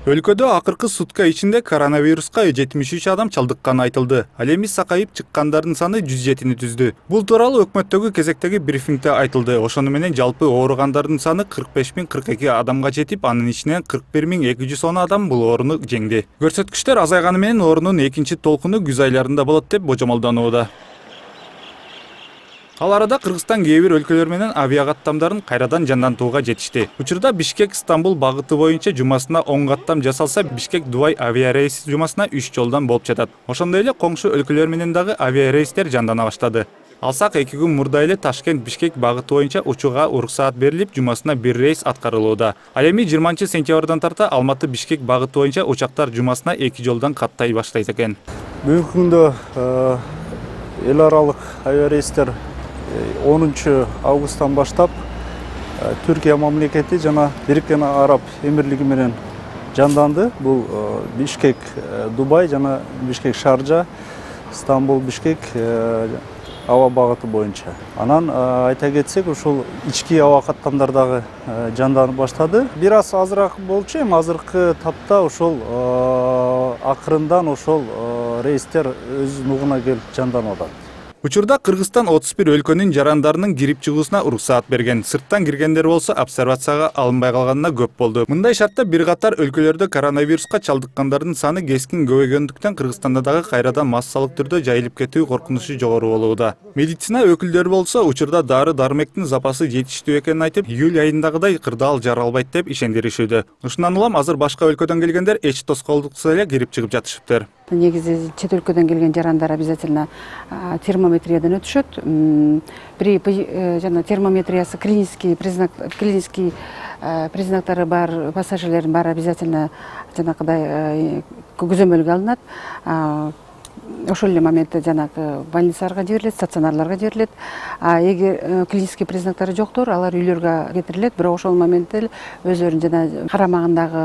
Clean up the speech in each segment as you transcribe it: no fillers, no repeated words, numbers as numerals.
Өлкөдө акыркы сутка ичинде коронавируска 73 адам чалдыкканы айтылды. Ал эми сакайып чыккандардын саны 107-ни түздү. Бул тууралуу өкмөттөгү кезектеги брифингде айтылды. Ошону менен жалпы ооругандардын саны 45.042 адамга жетип, анын ичинен 41.210 адам бул ооруну жеңди. Көрсөткүчтөр азайганы менен оорунун экинчи толкуну күз айларында болот деп божомолдонууда. Ал арада Кыргызстан кээ бир өлкөлөр менен авиакаттамдарын кайрадан жандантууга жетишти. Учурда Бишкек-Стамбул багыты боюнча жумасына 10 каттам жасалса, Бишкек-Дубай авиарейси жумасына 3 жолдан болуп жатат. Ошондой эле коңшу өлкөлөр менен дагы авиарейстер жандана баштады. Алсак 2 күн мурда эле Ташкент-Бишкек багыты боюнча учууга уруксаат берилип, жумасына 1 рейс аткарылууда. Ал эми 20-сентябрдан тарта Алматы-Бишкек багыты боюнча учактар жумасына 2 жолдан каттай баштайт экен. Бүгүнкү күндө эл аралык авиарейстер 10 августтан баштап Түркия мамлекети жана Бириккен Араб Эмирлиги менен жанданды. Бул Бишкек Дубай жана Бишкек Шаржа, Стамбул Бишкек аба багыты боюнча. Анан айта кетсек, ушул ички аба каттамдар дагы жанданып баштады. Бир аз азыраак болчу, эми азыркы тапта ошол акырындан ошол рейстер өз нугуна келип жанданып атат. Учурда Кыргызстан 31 өлкөнүн жарандарынын кирип чыгуусуна уруксаат берген. Сырттан киргендер болсо обсервацияга алынбай калганына көп болду. Мындай шартта бир катар өлкөлөрдө коронавируска чалдыккандардын саны кескин көбөйгөндүктөн Кыргызстанда дагы кайрадан массалык түрдө жайылып кетүү коркунучу жогору болууда. Медицина өкүлдөрү болсо учурда дары-дармектин запасы жетиштүү экенин айтып, июль айындагыдай кырдаал жаралбайт деп ишендиришүүдө. Ушундан улам азыр башка өлкөдөн келгендер эч тоскоолдуксуз эле кирип чыгып жатышыптыр. Негизи чет өлкөдөн келген жарандар обязательно термометриядан өтүшөт. При жана термометриясы клинический признактары бар пассажирлердин баары обязательно жанакыдай көзөмөлгө алынат. Ошол эле моментте жанагы больницаларга жиберилет, стационарларга жиберилет. Эгер клинический признактары жоктор, алар үйлөргө кетирилет. Бирок ошол моментте өздөрүнүн жана карамагындагы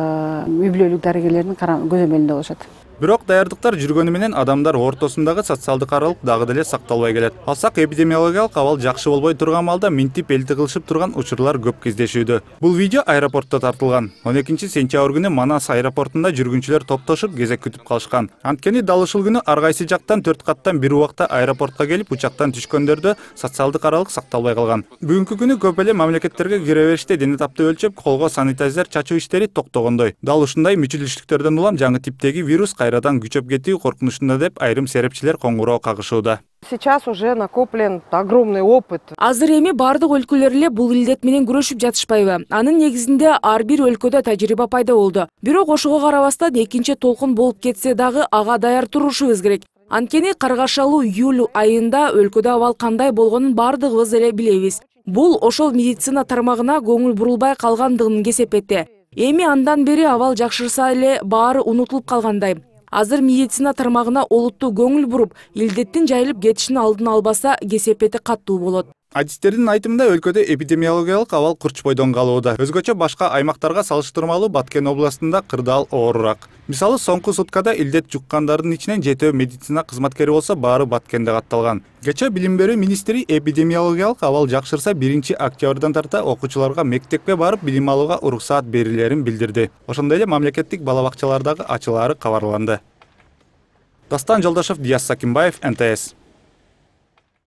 үй бүлөлүк дарыгерлердин көзөмөлүндө болушат. Бирок даярдыктар жүргөнү менен адамдар ортосундагы социалдык аралык дагы деле сакталбай келет. Алсак эпидемиологиялык абал жакшы болбой турган маалда минтип элти кылышып турган учурлар көп кездешүүдө. Бул видео аэропортто тартылган. 12-сентябрь күнү Манас аэропортунда жүргүнчүлөр топтошуп кезек күтүп калышкан. Анткени дал ушул күнү ар кайсы жактан 4 каттан бир убакта аэропортко келип учактан түшкөндөрдө социалдык аралык сакталбай калган. Бүгүнкү күнү көп эле мамлекеттерге кире бериште дене тапты өлчөп, колго санитайзер чачуу иштери токтогондой. Дал ушундай мүчүлүштүктөрдөн улам жаңы типтеги вирус кайрадан күчөп кетүү коркунучунда деп айрым серепчилер коңгуроо кагышууда. Сейчас уже накоплен огромный опыт. Азыр эми бардык өлкөлөр эле бул илдет менен күрөшүп жатышпайбы? Анын негизинде ар бир өлкөдө тажрыйба пайда болду. Бирок ошого карабастан экинчи толкун болуп кетсе дагы ага даяр турушубуз керек. Анткени каргашалуу июль айында өлкөдө абал кандай болгонун бардыгыбыз эле билебиз. Бул ошол медицина тармагына көңүл бурулбай калгандыгын кесепетти. Эми андан бери абал жакшырса эле баары унутулуп калгандай. Азыр медицина тармагына олуттуу көңүл буруп, илдеттин жайылып кетишин алдын албаса кесепети каттуу болот. Адистердин айтымында өлкөдө эпидемиологиялык абал курчпойдон калууда. Өзгөчө башка аймактарга салыштырмалуу Баткен областында кырдаал оорураак. Мисалы, соңку суткада илдет жуккандардын ичинен 7 медицина кызматкери болсо, баары Баткенде катталган. Кечээ билим берүү министри эпидемиологиялык абал жакшырса 1-октябрдан тарта окуучуларга мектепке барып билим алууга уруксаат берилерин билдирди. Ошондой эле мамлекеттик бала бакчалардагы ачылаары кабарланды. Дастан Жолдошов, Диас Сакимбаев, НТС.